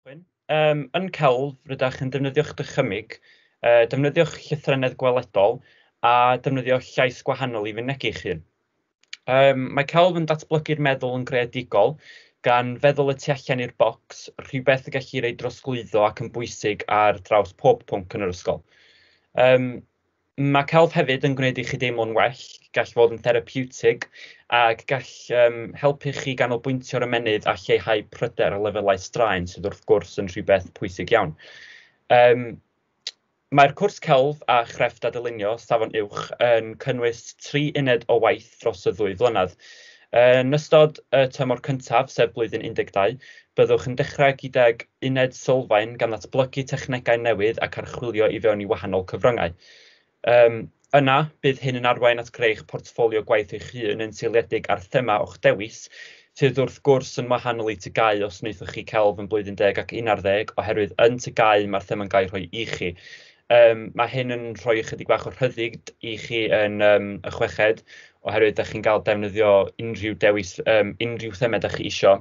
Yn celf, rydych yn defnyddio'ch dychymyg, defnyddio'ch llythrennedd gweledol a defnyddio llais gwahanol i fynegi'ch hun. Mae celf yn datblygu'r meddwl yn greadigol, gan feddwl y tu allan i'r bocs, rhywbeth y gellir ei drosglwyddo ac yn bwysig ar draws pob pwnc yn yr ysgol. Mae celf hefyd yn gwneud i chi deimlo'n well, gall fod yn therapiwtig ac gall helpu chi ganolbwyntio'r ymennydd a lleihau pryder a lefelau straen, sydd wrth gwrs yn rhywbeth pwysig iawn. Mae'r cwrs celf a chrefft a dylunio safon uwch yn cynnwys 3 uned o waith dros y 2 flynedd. Yn ystod y tymor cyntaf, sef blwyddyn 12, byddwch yn dechrau gydag uned sylfaen gan ddatblygu technegau newydd ac archwilio i fewn i wahanol cyfryngau. Yna, bydd hyn yn arwain at greu eich portffolio gwaith eich hun yn seiliedig ar thema o'ch dewis, sydd wrth gwrs yn wahanol i TGAU os wnaethoch chi celf yn blwyddyn 10 ac 11, oherwydd yn TGAU mae'r thema'n cael ei rhoi i chi. Mae hyn yn rhoi ychydig bach o rhyddid i chi yn y chweched, oherwydd dach chi'n cael defnyddio unrhyw dewis, unrhyw thema dach chi isio,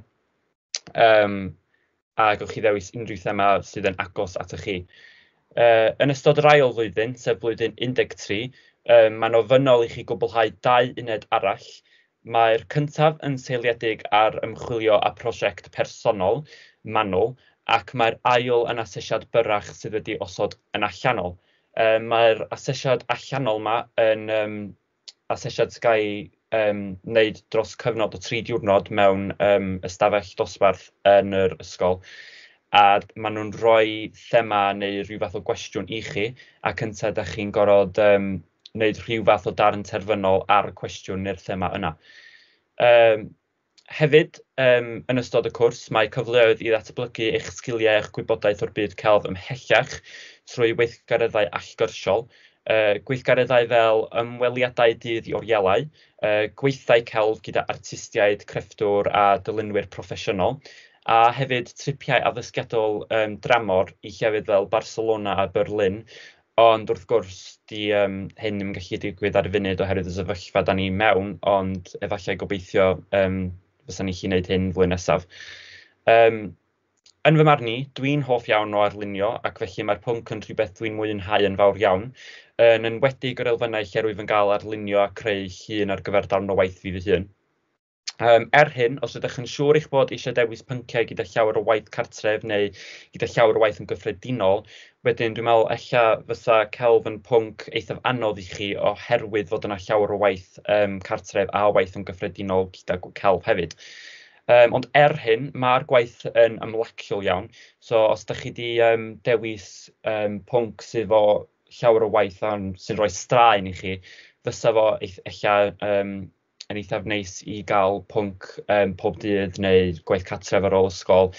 a gewch chi ddewis unrhyw thema sydd yn agos atoch chi. Yn ystod yr ail flwyddyn, sef blwyddyn 13, mae'n ofynnol i chi gwblhau 2 uned arall. Mae'r cyntaf yn seiliedig ar ymchwilio a prosiect personol manwl, ac mae'r ail yn asesiad byrrach sydd wedi osod yn allanol. Mae'r asesiad allanol yma yn asesiad sy'n cael ei wneud dros cyfnod o 3 diwrnod mewn ystafell dosbarth yn yr ysgol, a maen nhw'n rhoi thema neu rhyw fath o gwestiwn i chi, ac yntau dach chi'n gorfod wneud rhyw fath o darn terfynol ar y cwestiwn neu'r thema yna. Hefyd, yn ystod y cwrs, mae cyfleoedd i ddatblygu eich sgiliau a'ch gwybodaeth o'r byd celf ymhellach trwy weithgareddau allgyrsiol, gweithgareddau fel ymweliadau dydd i orielau, gweithdai celf gyda artistiaid, crefftwr a dylunwyr proffesiynol, a hefyd tripiau addysgiadol dramor i llefydd fel Barcelona a Berlin, ond wrth gwrs, 'di hyn ddim yn gallu digwydd ar y funud oherwydd y sefyllfa dan ni mewn, ond efallai gobeithio fysa ni'n gallu gwneud hyn flwyddyn nesaf. Yn fy marn i, dwi'n hoff iawn o arlunio, ac felly mae'r pwnc yn rhywbeth dwi'n mwynhau yn fawr iawn, yn enwedig yr elfennau lle rwyf yn gael arlunio a creu llun ar gyfer darn o waith fi fy hun. Er hyn, os ydych yn siŵr eich bod eisiau dewis pynciau gyda llawer o waith cartref neu gyda llawer o waith yn gyffredinol, wedyn dwi'n meddwl ella fysa celf yn pwnc eithaf anodd i chi oherwydd fod yna llawer o waith cartref a waith yn gyffredinol gyda celf hefyd. Ond er hyn, mae'r gwaith yn ymlaciol iawn, so os dach chi 'di dewis pwnc sydd efo llawer o waith sy'n rhoi straen i chi, fysa fo ella yn eithaf neis i gael pwnc pob dydd neu gwaith cartref ar ôl ysgol,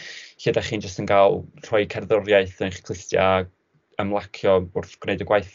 lle dach chi'n jyst yn cael rhoi cerddoriaeth yn eich clustiau a ymlacio wrth gwneud y gwaith.